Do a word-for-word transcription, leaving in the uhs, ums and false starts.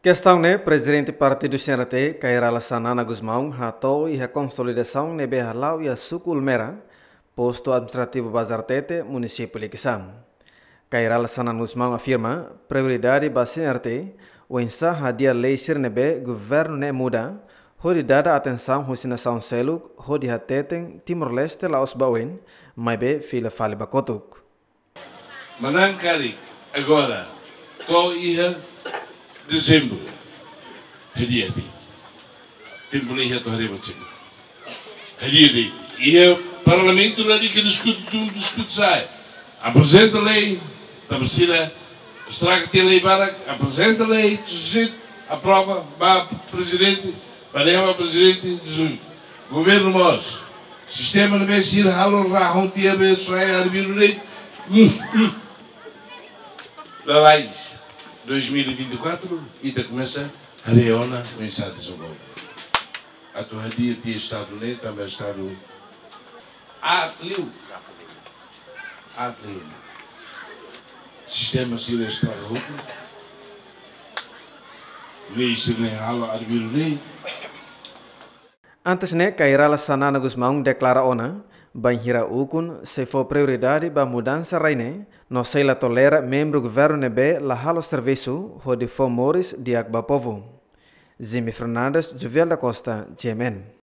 Kestaun ne'e, Prezidente Partidu C N R T, Kay Rala Xanana Gusmão, hato'o iha konsolidasaun ne'ebé hala'o iha Suku Ulmera, Postu Administrativu Bazartete, Munisípiu Likisá. Kay Rala Xanana Gusmão afirma, prioridade ba C N R T, oinsá hadi'a lei sira ne'ebé governu ne'e muda, hodi dada atensaun husi nasaun seluk, hodi hateten Timor-Leste la'ós ba oin, maibé fila fali ba kotuk. Manán karik, agora, to'o iha Dezembru. Hadi'a de'it. Tempu la iha atu haree ba Dezembru. Hadi'a de'it. Iha Parlamentu lalika diskute tun, diskute sa'e. Aprezenta lei, tanba sira estraga tiha lei barak, aprezenta lei, tusit, aprova, ba Prezidente, ba lei ba Prezidente, tusit. Governu mós. Sistema ne'ebé sira halo rahun tiha be soe arbiru de'it. Hum, hum. Lalais, dois mil e vinte e quatro, ita komesa haree ona oinsá dezenvolve. Atu hadi'a tiha Estadu ne'e, tanba Estadu aat liu. Aat liu. Sistema sira estraga hotu. Lei sira ne'e halo arbiru de'it. Antes ne'e, Kay Rala Xanana Gusmão deklara ona, bainhira ukun sei fó prioridade ba mudansa rai ne'e, no sei la tolera membru governu ne'ebé la halo servisu hodi fó moris di'ak ba povu. Jimmy Fernandes, Jovial da Costa, G M N.